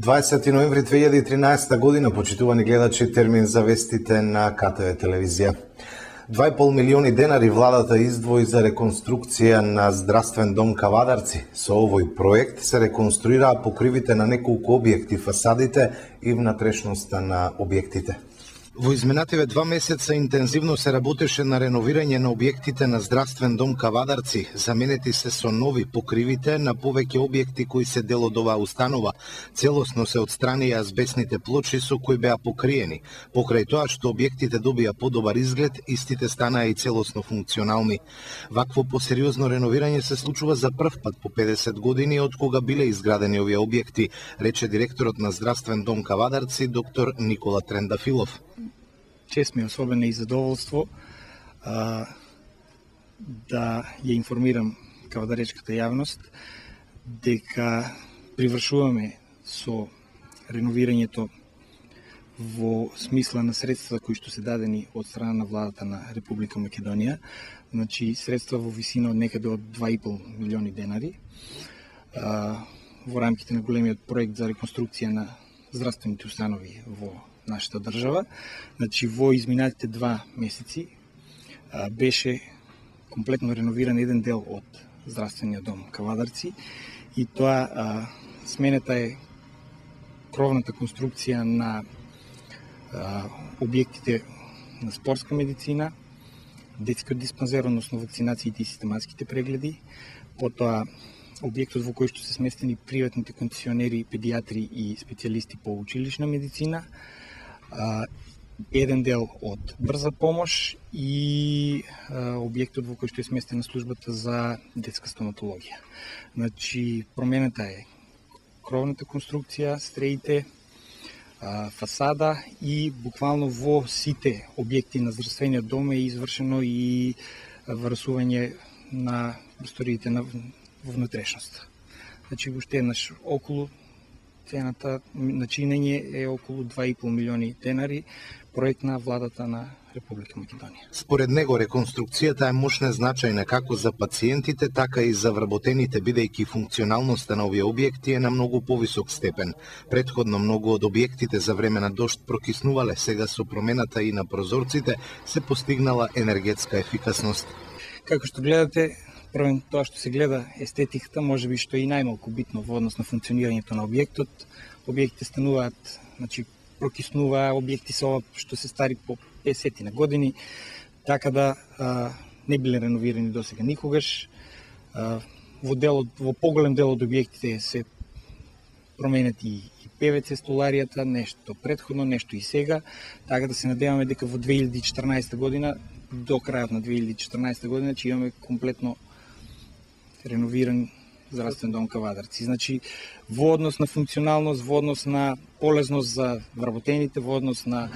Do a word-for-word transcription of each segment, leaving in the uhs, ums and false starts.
дваесети ноември две илјади и тринаесетта година, почитувани гледачи, термин за вестите на КТВ телевизија. два и пол милиони денари владата издвои за реконструкција на здравствен дом Кавадарци. Со овој проект се реконструираа покривите на неколку објекти, фасадите и внатрешноста на објектите. Во изминативе два месеца интензивно се работеше на реновирање на објектите на здравствен дом Кавадарци. Заменети се со нови покривите на повеќе објекти кои се дел од оваа установа. Целосно се отстранија азбесните плочи со кои беа покриени. Покрај тоа што објектите добија подобар изглед, истите станаа и целосно функционални. Вакво посериозно реновирање се случува за прв пат по педесет години од кога биле изградени овие објекти, рече директорот на здравствен дом Кавадарци доктор Никола Трендафилов. Чест ми е особено и задоволство а, да ја информирам кавадаречката јавност дека привршуваме со реновирањето во смисла на средства кои што се дадени од страна на владата на Република Македонија, значи средства во висина од некаде од два и пол милиони денари а, во рамките на големиот проект за реконструкција на здравствените установи во нашата држава. Значи, во изминатите два месеци а, беше комплетно реновиран еден дел од здравствениот дом Кавадарци и тоа а, сменета е кровната конструкција на а, објектите на спортска медицина, детскиот диспансер, односно вакцинациите и систематските прегледи, потоа објектот во кој што се сместени приватните концесионери, педиатри и специјалисти по училишна медицина, Uh, еден дел од брза помош и uh, објектот во кој што е сместена службата за детска стоматологија. Значи, промената е кровната конструкција, стреите, uh, фасада и буквално во сите објекти на здравствениот дом е извршено и врасување на просториите на внатрешноста. Значи, уште еднаш околу цената на чинење е околу два и пол милиони денари, проект на владата на Република Македонија. Според него, реконструкцијата е мощна значајна како за пациентите, така и за вработените, бидејќи функционалноста на овие објекти е на многу повисок степен. Претходно многу од објектите за време на дожд прокиснувале, сега со промената и на прозорците се постигнала енергетска ефикасност. Како што гледате, првен тоа што се гледа естетиката, може би што е и најмалку битно во однос на функционирањето на објектот. Објектите стануваат, значи прокиснува, објекти се ова што се стари по песет на години, така да а, не биле реновирани досега никогаш. А, во делот, во поголем дел од објектите се променети и, и ПВЦ столаријата, нешто претходно, нешто и сега, така да се надеваме дека во две илјади и четрнаесетта година, до крајот на две илјади и четрнаесетта година, че имаме комплетно реновиран здравствен дом Кавадарци. Значи, во однос на функционалност, во однос на полезност за вработените, во однос на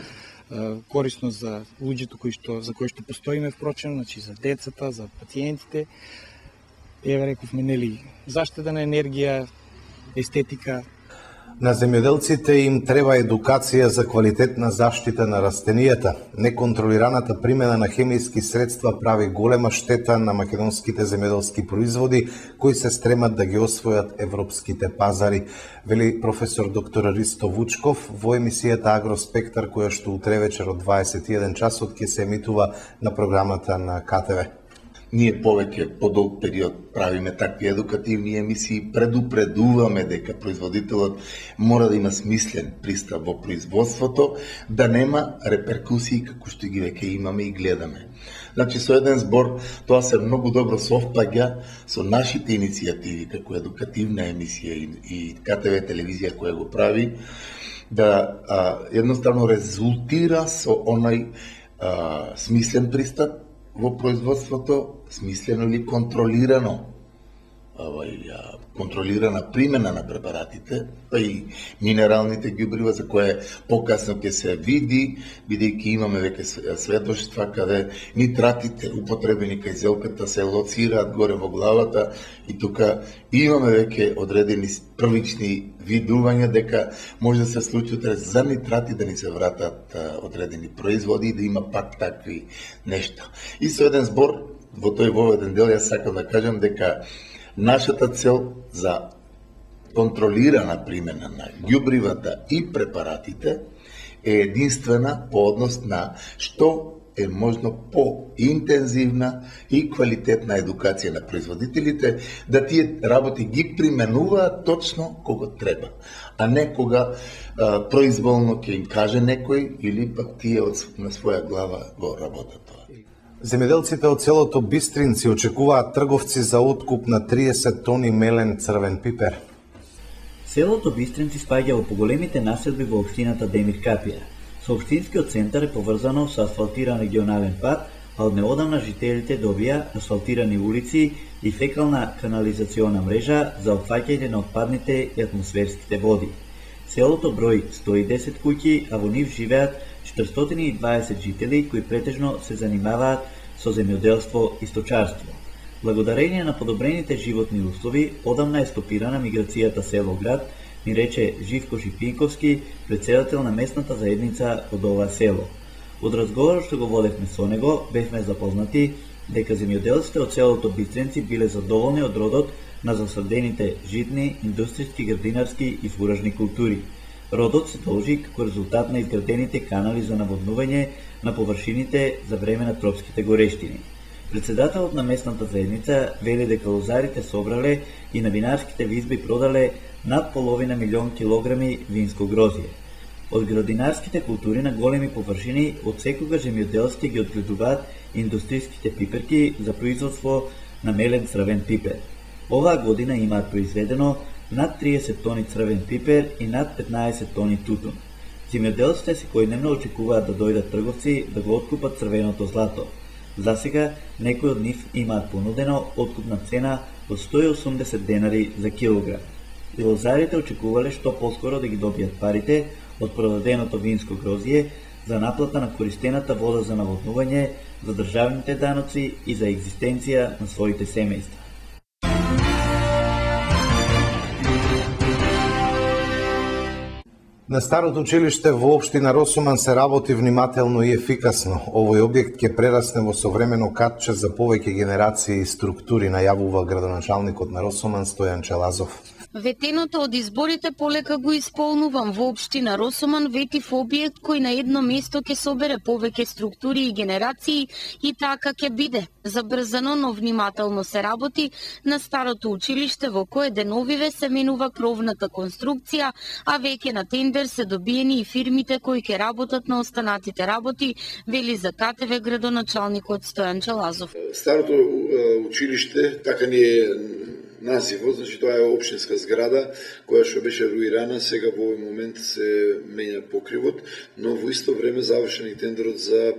е, корисност за луѓето кои што за кои што постоиме, впрочем, значи за децата, за пациентите. Еве рековме, нели, заштеда на енергија, естетика. На земјоделците им треба едукација за квалитетна заштита на растенијата. Неконтролираната примена на хемиски средства прави голема штета на македонските земјоделски производи кои се стремат да ги освојат европските пазари, вели професор доктор Ристо Вучков во емисијата Агроспектар, која што утре вечер од дваесет и еден часот ќе се емитува на програмата на КТВ. Ние повеќе подолг период правиме такви едукативни емисии, предупредуваме дека производителот мора да има смислен пристап во производството, да нема реперкусии како што ги веќе имаме и гледаме. Значи, со еден збор, тоа се многу добро совпаѓа со нашите иницијативи како едукативна емисија и, и КТВ телевизија која го прави, да а, едноставно резултира со онај а, смислен пристап во производството, смислено или контролирано, овај, контролирана примена на препаратите, па и минералните ѓубрива за кое покасно ќе се види, бидејќи имаме веќе сведоштва каде нитратите употребени кај зелката се лоцираат горе во главата и тука имаме веќе одредени првични видувања дека може да се случи за нитрати да ни се вратат одредени производи и да има пак такви нешта. И со еден збор, во тој воведен дел, јас сакам да кажам дека нашата цел за контролирана примена на ѓубривата и препаратите е единствена по однос на што е можно по-интензивна и квалитетна едукација на производителите, да тие работи ги применуваат точно кога треба, а не кога а, произволно ќе им каже некој или пак тие од, на своја глава го работат тоа. Земјоделците од селото Бистринци очекуваат трговци за откуп на триесет тони мелен црвен пипер. Селото Бистринци спаѓа во поголемите населби во општината Демир Капија. Соопштинскиот центар е поврзано со асфалтиран регионален пат, а од неодамна жителите добија асфалтирани улици и фекална канализациона мрежа за опфаќање на отпадните и атмосферските води. Селото брои сто и десет куќи, а во нив живеат четиристотини и дваесет жители кои претежно се занимаваат со земјоделство и сточарство. Благодарение на подобрените животни услови, одамна е стопирана миграцијата село-град, ни рече Живко Шипинковски, председател на местната заедница од ова село. Од разговорот што го водевме со него, бевме запознати дека земјоделците од селото Бистринци биле задоволни од родот на засадените житни, индустријски, градинарски и фуражни култури. Родот се должи како резултат на изградените канали за наводнување на површините за време на тропските горештини. Председателот на местната заедница вели дека лозарите собрале и на винарските визби продале над половина милион килограми винско грозје. Од градинарските култури на големи површини од секогаш земјоделците ги одгледуваат индустријските пиперки за производство на мелен црвен пипер. Оваа година имаат произведено над триесет тони црвен пипер и над петнаесет тони тутун. Земјоделците секојдневно очекуваат да дојдат трговци да го откупат црвеното злато. Засега некои од нив имаат понудено откупна цена од сто и осумдесет денари за килограм. И лозарите очекувале што поскоро да ги добијат парите од продаденото винско грозје за наплата на користената вода за наводнување, за државните даноци и за екзистенција на своите семејства. На старото училиште во општина Росуман се работи внимателно и ефикасно. Овој објект ќе прерасне во современо катче за повеќе генерации и структури, најавува градоначалникот на Росуман Стојан Челазов. Ветеното од изборите полека го исполнувам. Во општина Росуман ветив објект кој на едно место ќе собере повеќе структури и генерации и така ќе биде. Забрзано, но внимателно се работи на старото училиште во кое деновиве се менува кровната конструкција, а веќе на тендер се добиени и фирмите кои ќе работат на останатите работи, вели за КТВ градоначалникот Стојан Челазов. Старото училиште, така ни е називот, значи тоа е општинска зграда која што беше руирана, сега во овој момент се менја покривот, но во исто време завршен и тендерот за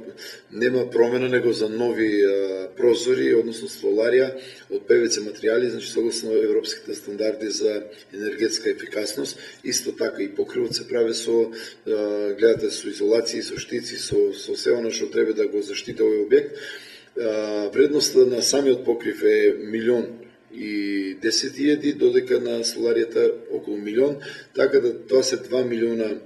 нема промена него за нови а, прозори, односно столарија од пе ве це материјали, значи согласно европските стандарди за енергетска ефикасност. Исто така и покривот се прави со а, гледате со изолации, со штици, со со се она што треба да го заштити овој објект. А, вредноста на самиот покрив е милион и десет илјади, додека на столаријата околу милион, така да тоа се два милиона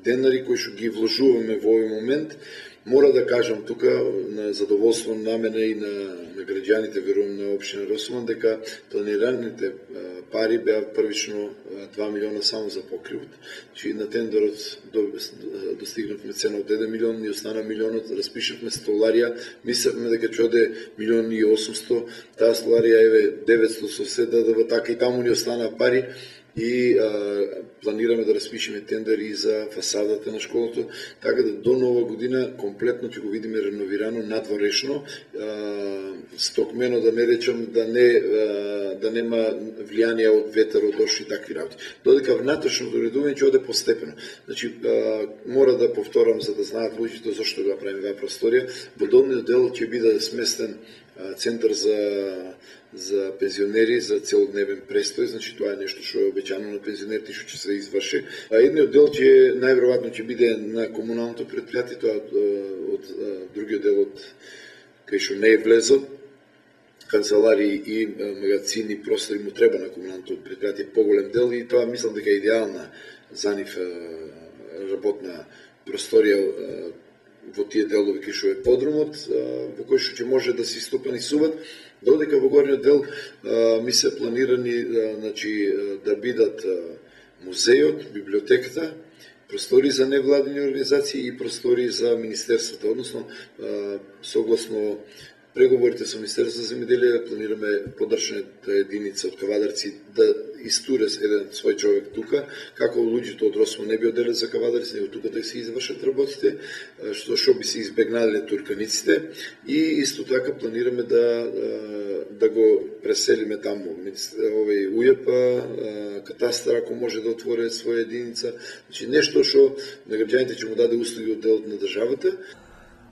денари кои што ги вложуваме во овој момент. Мора да кажам тука на задоволство на мене и на, на граѓаните, верувам на општина Росуман, дека планираните пари беа првично два милиона само за покривот. Значи на тендерот достигнавме цена од еден милион и остана милионот, распишавме столарија, мислевме дека ќе оде милион и осумсто, таа столарија еве деветсто со се дадува, така и таму ни остана пари. И а, планираме да распишеме тендер и за фасадата на школото, така да до нова година комплетно ќе го видиме реновирано, надворешно, а, стокмено, да не речам, да не а, да нема влијание од ветер, од дожд и такви работи. Додека внатрешното уредување ќе оде постепено. Значи а, мора да повторам за да знаат луѓето зошто го правиме оваа просторија. Во долниот дел ќе биде сместен а, центар за за пензионери, за целодневен престој, значи тоа е нешто што е обеќано на пензионерите што ќе се изврши. А едниот дел ќе најверојатно ќе биде на комуналното претпријатие, тоа од, од, од другиот дел од кај што не е влезо. Канцелари и магазини простори му треба на комуналното претпријатие поголем дел и тоа мислам дека е идеална за нив работна просторија во тие делови кај што е подрумот, во кој што ќе може да се истопанисуваат, додека во горниот дел ми се планирани значи, да бидат музејот, библиотеката, простори за невладини организации и простори за Министерството, односно согласно преговорите со Министерството за земјоделие планираме подршната единица од Кавадарци да истуре еден свој човек тука, како луѓето од Росмо не би оделе за Кавадарци, него тука да се извршат работите, што што би се избегнале турканиците, и исто така планираме да да го преселиме таму. Овој УЈП, катастар ако може да отвори своја единица, значи нешто што на граѓаните ќе му даде услуги од делот на државата.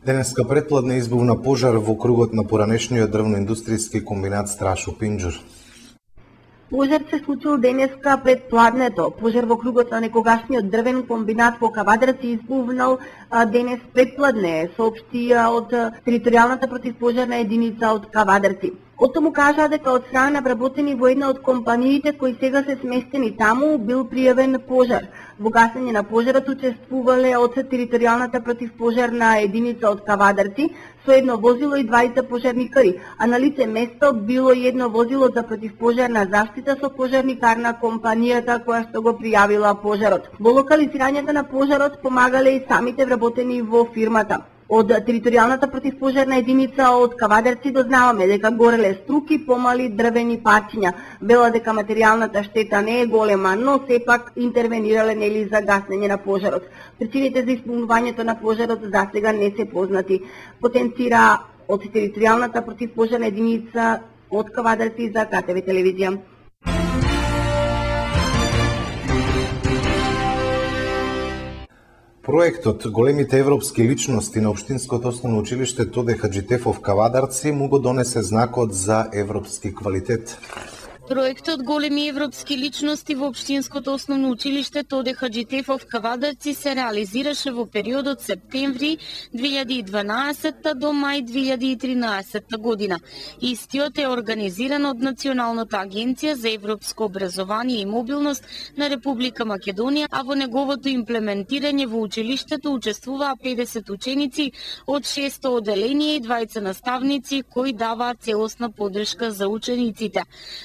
Денеска предпладне избувна пожар во кругот на поранешниот дрвно-индустријски комбинат Страшо Пинџур. Пожар се случил денеска пред пладнето. Пожар во кругот на некогашниот дрвен комбинат во Кавадарци избувнал денес пред пладне, соопшти од територијалната противпожарна единица од Кавадарци. Од тому кажа дека од страна на вработени во една од компаниите кои сега се сместени таму бил пријавен пожар. Во гасење на пожарот учествувале од територијалната противпожарна единица од Кавадарци со едно возило и двајца пожарникари, а на лице место било и едно возило за противпожарна заштита со пожарникар на компанијата која што го пријавила пожарот. Во локализирањето на пожарот помагале и самите вработени во фирмата. Од територијалната противпожарна единица од Кавадарци дознаваме дека гореле струки, помали дрвени парчиња. Вела дека материјалната штета не е голема, но сепак интервенирале нели за гаснење на пожарот. Причините за исполнувањето на пожарот засега не се познати. Потенцира од територијалната противпожарна единица од Кавадарци за ка те ве телевизија. Проектот Големите европски личности на Општинското основно училиште Тоде Хаџитефов Кавадарци му го донесе знакот за европски квалитет. Проектот Големи европски личности во Општинското основно училиште Тоде Хаџитефов Кавадарци се реализираше во периодот септември две илјади и дванаесетта до мај две илјади и тринаесетта година. Истиот е организиран од Националната агенција за европско образование и мобилност на Република Македонија, а во неговото имплементирање во училиштето учествуваа педесет ученици од шесто оделение и двајца наставници кои даваат целосна поддршка за учениците.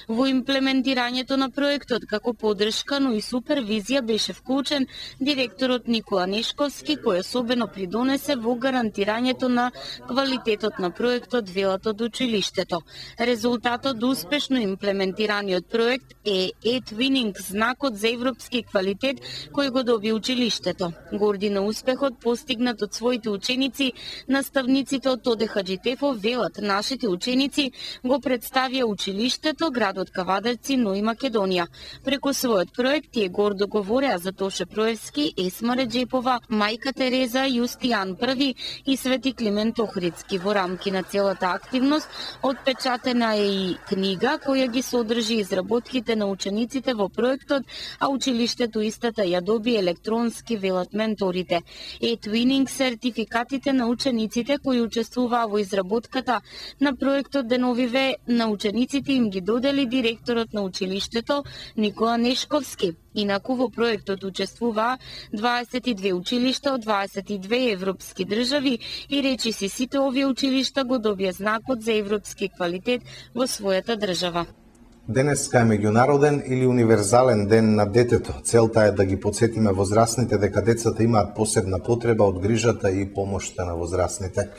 Во имплементирањето на проектот како поддршка, но и супервизија беше вклучен директорот Никола Нешковски, кој особено придонесе во гарантирањето на квалитетот на проектот, велат од училиштето. Резултатот до успешно имплементираниот проект е e-twinning, знакот за европски квалитет кој го доби училиштето. Горди на успехот постигнат од своите ученици, наставниците од Тоде Хаџитефов велат, нашите ученици го представија училиштето, градот Кавадарци, но и Македонија. Преку својот проект тие гордо говореа за Тоше Проевски, Есма Реджепова, Мајка Тереза, Јустијан Први и Свети Климент Охридски. Во рамки на целата активност отпечатена е и книга која ги содржи изработките на учениците во проектот, а училиштето истата ја доби електронски, велат менторите. e-twinning сертификатите на учениците кои учествуваа во изработката на проектот деновиве на учениците им ги додели директорот на училиштето Никола Нешковски. Инаку во проектот учествуваа дваесет и две училишта од дваесет и две европски држави и речиси сите овие училишта го добија знакот за европски квалитет во својата држава. Денеска е меѓународен или универзален ден на детето. Целта е да ги подсетиме возрастните дека децата имаат посебна потреба од грижата и помошта на возрастните.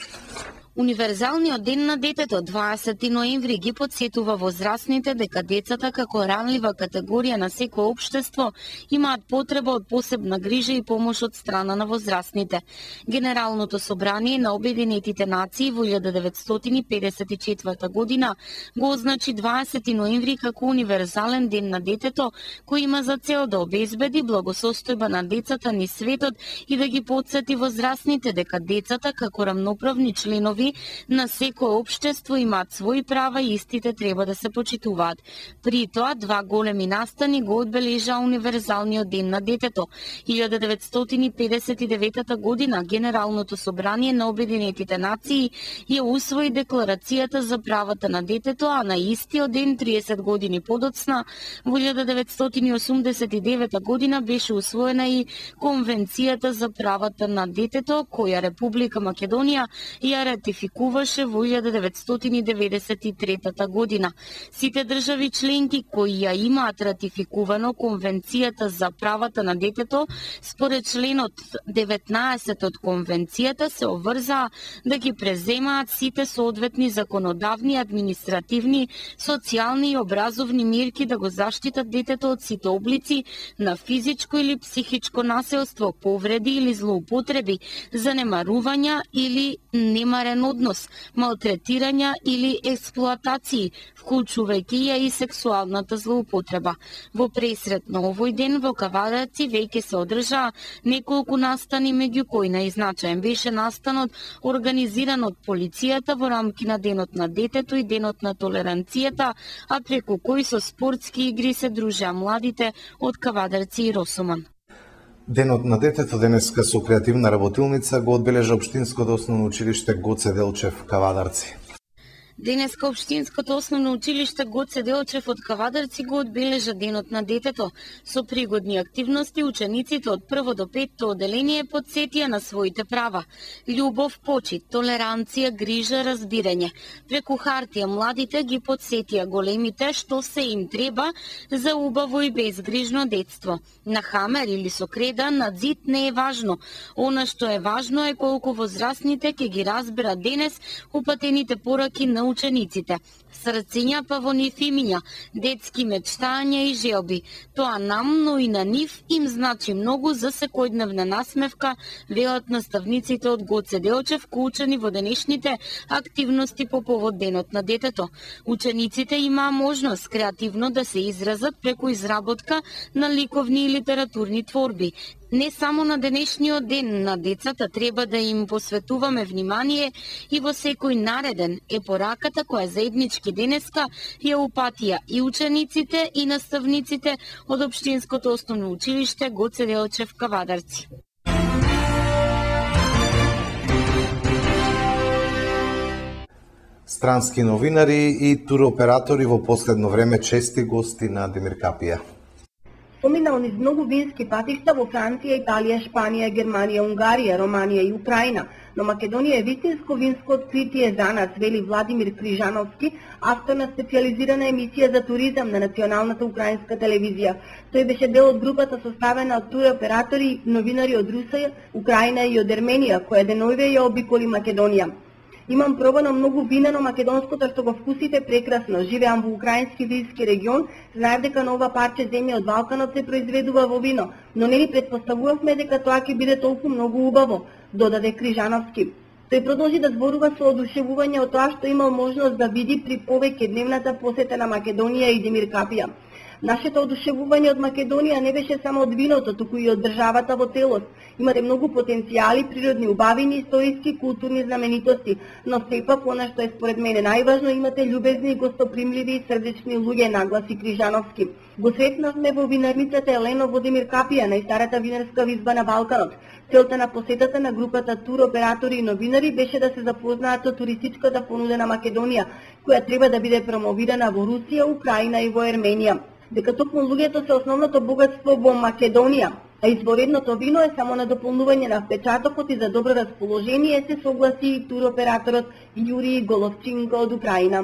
Универзалниот ден на детето дваесети ноември ги подсетува возрастните дека децата како ранлива категорија на секое општество имаат потреба од посебна грижа и помош од страна на возрастните. Генералното собрание на Обединетите нации во илјада деветстотини педесет и четврта година го означи дваесети ноември како универзален ден на детето, кој има за цел да обезбеди благосостојба на децата низ светот и да ги подсети возрастните дека децата како рамноправни членови нели на секое општество имаат своји права и истите треба да се почитуваат. При тоа два големи настани го одбележа универзалниот ден на детето. илјада деветстотини педесет и девета година Генералното собрание на Обединетите нации ја усвои декларацијата за правата на детето, а на истиот ден триесет години подоцна во илјада деветстотини осумдесет и девета година беше усвоена и Конвенцијата за правата на детето, која Република Македонија ја ратификуваше во илјада деветстотини деветдесет и трета година. Сите држави членки кои ја имаат ратификувано Конвенцијата за правата на детето, според членот деветнаесет од Конвенцијата се обврзаа да ги преземаат сите соодветни законодавни, административни, социјални и образовни мерки да го заштитат детето од сите облици на физичко или психичко насилство, повреди или злоупотреби, занемарувања или немарен однос, малтретирања или експлоатации, вклучувајќи ја и сексуалната злоупотреба. Во пресрет на овој ден во Кавадарци веќе се одржаа неколку настани, меѓу кои најзначаен беше настанот организиран од полицијата во рамки на Денот на детето и Денот на толеранцијата, а преку кој со спортски игри се дружеа младите од Кавадарци и Росоман. Денот на детето денеска со креативна работилница го одбележа Општинското основно училиште Гоце Делчев Кавадарци. Денеска Општинското основно училиште Гоце Делчев од Кавадарци го одбележа Денот на детето. Со пригодни активности учениците од прво до петто оделение потсетија на своите права: љубов, почит, толеранција, грижа, разбирање. Преку хартија младите ги потсетија големите што се им треба за убаво и безгрижно детство. На хамер или со креда на зид не е важно. Она што е важно е колку возрастните ќе ги разберат денес упатените пораки на учениците. Срциња па во нив имиња, детски мечтања и желби. Тоа нам, но и на нив им значи многу за секојдневна насмевка, велат наставниците од Гоце Делчев, вклучени во денешните активности по повод Денот на детето. Учениците имаа можност креативно да се изразат преку изработка на ликовни и литературни творби. Не само на денешниот ден на децата треба да им посветуваме внимание и во секој нареден е пораката која заеднички денеска ја упатија и учениците и наставниците од Општинското основно училиште Гоце Делчев Кавадарци. Странски новинари и туроператори во последно време чести гости на Демир Капија. Поминал низ многу вински патишта во Франција, Италија, Шпанија, Германија, Унгарија, Романија и Украина, но Македонија е вистинско винско откритие за нас, вели Владимир Крижановски, автор на специјализирана емисија за туризам на националната украинска телевизија. Тој беше дел од групата составена од туроператори и новинари од Русија, Украина и од Ерменија, која денојве ја обиколи Македонија. Имам пробано многу вина, но македонското што го вкусите прекрасно. Живеам во украински вински регион, знаев дека на ова парче земја од Балканот се произведува во вино, но не ни претпоставувавме дека тоа ќе биде толку многу убаво, додаде Крижановски. Тој продолжи да зборува со одушевување од тоа што имал можност да види при повеќе дневната посета на Македонија и Демир Капија. Нашето одушевување од Македонија не беше само од виното, туку и од државата во целост. Имате многу потенцијали, природни убавини, историски, културни знаменитости, но сепак она што е според мене најважно, имате љубезни, гостопримливи и срдечни луѓе, нагласи Крижановски. Го сретнавме во винарницата Елено во Демир Капија, најстарата винарска визба на Балканот. Целта на посетата на групата туроператори и новинари беше да се запознаат со туристичката понуда на Македонија, која треба да биде промовирана во Русија, Украина и во Ерменија. Дека токму луѓето се основното богатство во Македонија, а изворедното вино е само на дополнување на впечатокот и за добро расположение, се согласи и туроператорот Јури Головчинко од Украина.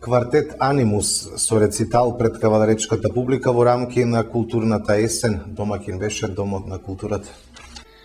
Квартет Анимус со рецитал пред кавадаречката публика во рамки на културната есен, домакин беше Домот на културата.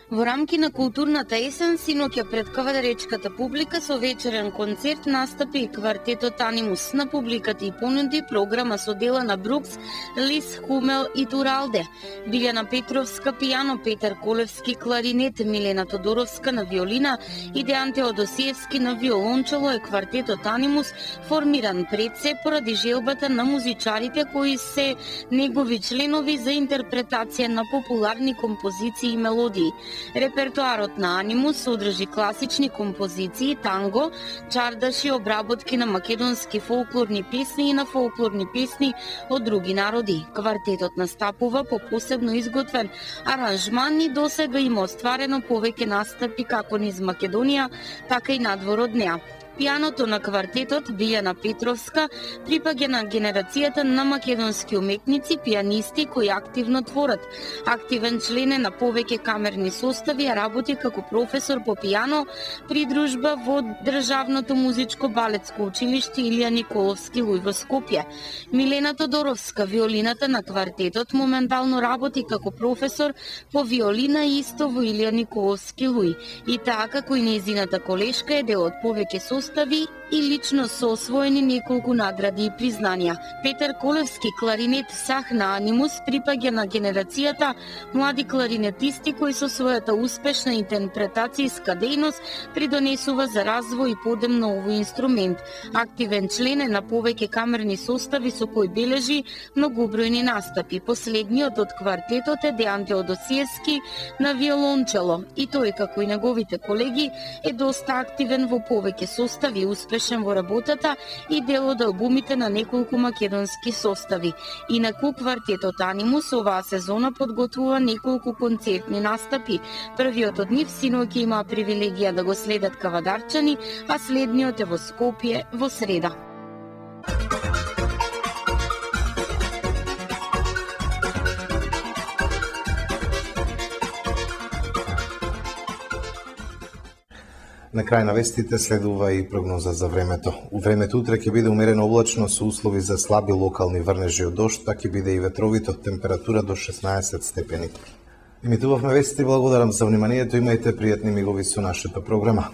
Во рамки на културната есен, синоќа пред кавадаречката публика со вечерен концерт настапи и квартетот Анимус. На публиката и понуди програма со дела на Брукс, Лис, Хумел и Туралде. Билјана Петровска пијано, Петар Колевски кларинет, Милена Тодоровска на виолина и Дејан Теодосиевски на виолончело е квартетот Анимус, формиран пред се поради желбата на музичарите кои се негови членови за интерпретација на популарни композиции и мелодии. Репертоарот на Анимус содржи класични композиции, танго, чардаши, обработки на македонски фолклорни песни и на фолклорни песни од други народи. Квартетот настапува по посебно изготвен аранжман и досега има остварено повеќе настапи како низ Македонија, така и надвор од неа. Пијаното на квартетот Билјана Петровска припаѓа на генерацијата на македонски уметници, пијанисти кои активно творат. Активен член е на повеќе камерни состави, а работи како професор по пијано при дружба во Државното музичко балетско училиште Илија Николовски Луј во Скопје. Милена Тодоровска, виолината на квартетот, моментално работи како професор по виолина исто во Илија Николовски Луј. И таа како и нејзината колешка е дел од повеќе состави и лично со освоени неколку награди и признанија. Петар Колевски, кларинет сах на Анимус, припаѓа на генерацијата млади кларинетисти кои со својата успешна интерпретацијска дејност придонесува за развој и подем на овој инструмент. Активен член е на повеќе камерни состави со кои бележи многобројни настапи. Последниот од квартетот е Дејан Теодосиевски на виолончело и тој, како и неговите колеги, е доста активен во повеќе состави, успешен во работата и дел од албумите на неколку македонски состави. Инаку квартетот Анимус оваа сезона подготвува неколку концертни настапи. Првиот од нив синоќа има привилегија да го следат кавадарчани, а следниот е во Скопје во среда. На крај на вестите следува и прогноза за времето. У времето утре ќе биде умерено облачно со услови за слаби локални врнежи од дожд, па ќе биде и ветровито, температура до шеснаесет степени. Имитувавме вестите, благодарам за вниманието, имајте пријатни мигови со нашата програма.